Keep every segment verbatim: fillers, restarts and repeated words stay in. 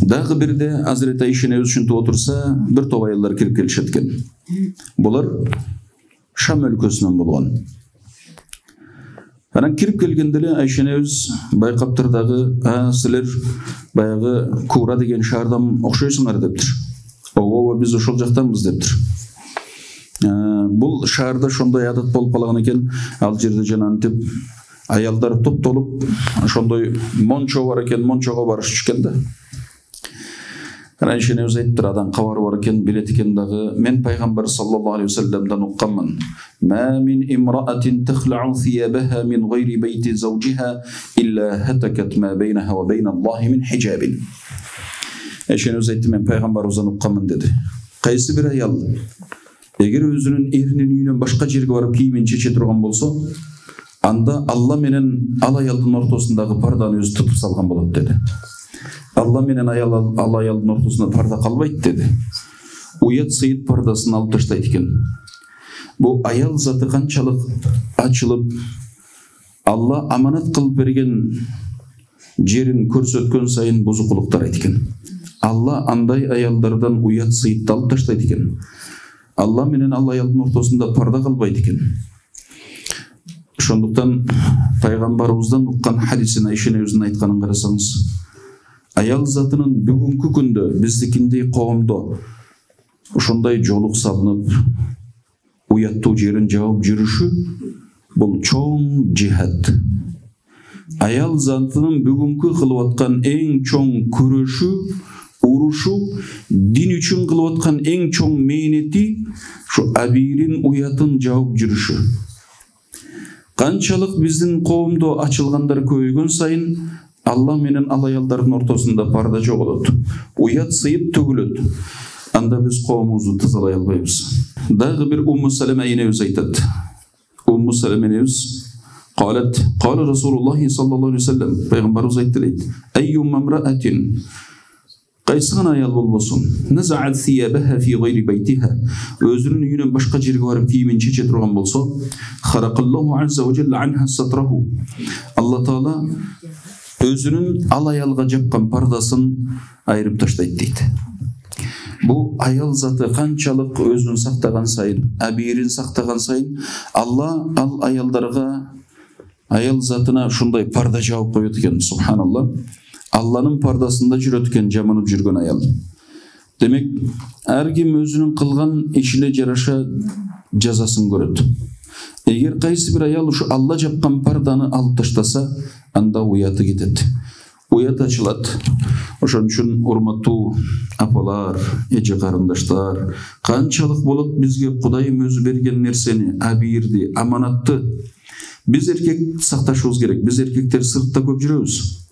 Дагы бирде Азирет Айша энебиз ушинтип отурса, бир топ аялдар кирип келишет экен. Булар Шам өлкөсүнөн болгон. Анан кирип келгенде эле Айша энебиз байкаптыр дагы, "А, силер баягы Кура деген шаардан окшойсуңар" дептир. "Ооба, биз ошол жактанбыз" дептир. Бул шаарда ошондой адат болуп калган экен, ал жерде жанагынтип аялдар топтолуп ошондой мончо бар экен, мончого барышып да. Айша энебиз айттыр, адан кабары бар экен, билет экен дагы. Мен пайгамбар саллаллаху алейхи вассаламдан укканмын. "Ма мин имраатин тахлa'u thiyabaha min ghayri bayti zawjiha illa hatakat ma baynaha wa bayna Allahi min hijabin." Айша энебиз айтты, мен пайгамбарыбыздан укканмын деди. Кайсы бир аял эгер өзүнүн эринин үйүнөн башка жерге барып кийимин чече турган болсо, анда Алла менен ал аялдын ортосундагы парданы өзү тутуп салган болот деди. Алла менен аял ал аялдын ортосунда парда калбайт деди. Уят сыйыт пардасын алып таштайт экен. Бу аял заты канчалык ачылып, Алла аманат кылып берген жерин көрсөткөн сайын бузукулуктар айт экен. Алла андай аялдардан уят сыйытты алып таштайт экен. Алла менен ал аялдын ортосунда парда калбайт экен. Ошондуктан пайгамбарыбыздан уккан хадисин Айша энебиздин айтканын карасаңыз, аял затынын бүгүнкү күндө биздикиндей коомдо ошондой жолук салынып, уяттуу жерин жаап жүрүшү бул чоң жихад. Аял затынын бүгүнкү кылып аткан эң чоң күрөшү, урушу, дин үчүн кылып аткан эң чоң мээнети ушу абийирин уятын жаап жүрүшү. Канчалык биздин коомдо ачылгандар көбөйгөн сайын Алла менен ал аялдардын ортосунда парда жоголот. Уят сыйып төгүлөт. Анда биз коомубузду тазалай албайбыз. Дагы бир Умму Салама энебиз айтат. Умму Салама энебиз قالت قال رسول الله صلى الله عليه وسلم пайгамбарыбыз айтты дейт. أيما امرأة кайсыган аял болбосун, назаат сиябаха фи гайри байтиха, өзүнүн үйүнөн башка жерге барып кийимин чече турган болсо, харакаллаху азза ва жалла анха сатраху. Алла таала өзүнүн ал аялга жапкан пардасын айырып таштайт дейт. Бу аял заты канчалык өзүн сактаган сайын, абийирин сактаган сайын, Алла ал аялдарга, аял затына ушундай парда жаап коет экен. Субханалла. Алланын пардасында жүрөт экен жаманып жүргөн аял. Демек, ар ким өзүнүн кылган ишине жараша жазасын көрөт. Эгер кайсы бир аял ушу Алла жапкан парданы алып таштаса, анда уяты кетет. Уят ачылат. Ошон үчүн урматтуу апалар, эже карындаштар, канчалык болот бизге Кудайым өзү берген нерсени, абийирди, аманатты биз эркек сакташыбыз керек. Биз эркектер сыртта көп жүрөбүз.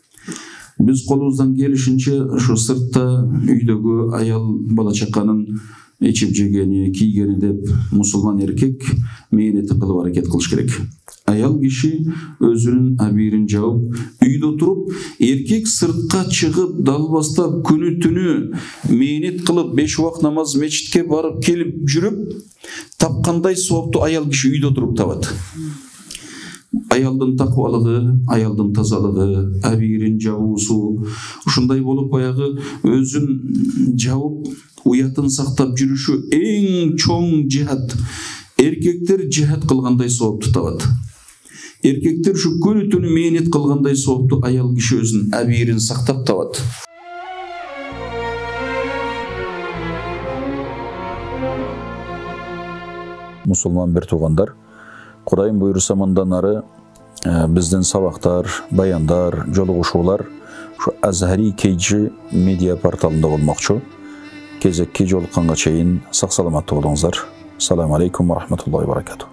Биз колубуздан келишинче ошо сыртта үйдөгү аял бала чаканын ичип жегени, кийгени деп мусулман эркек мээнети кылып аракет кылыш керек. Аял киши өзүнүн абийирин жаап, үйдө туруп, эркек сыртка чыгып, далбастап, күнү түнү мээнет кылып, беш убак намаз мечитке барып келип жүрүп, тапкандай соопту аял киши үйдө туруп табат. Аялдын таквалыгы, аялдын тазалыгы, абийирин жабуусу, ушундай болуп баягы өзүн жабып, уятын сактап жүрүшү эң чоң жихад. Эркектер жихад кылгандай соопту табат. Эркектер ушу күнү түнү мээнет кылгандай соопту аял киши өзүнүн абийирин сактап табат. Мусулман бир туугандар, Кудайым буйруса мындан ары биздин сабактар, баяндар, жолугушуулар ушу Азхари кей джи медиа порталында болмокчу. Кезекке жолукканга чейин сак саламаттуу болуңуздар. Ассаламу алейкум ва рахматуллахи ва баракатух.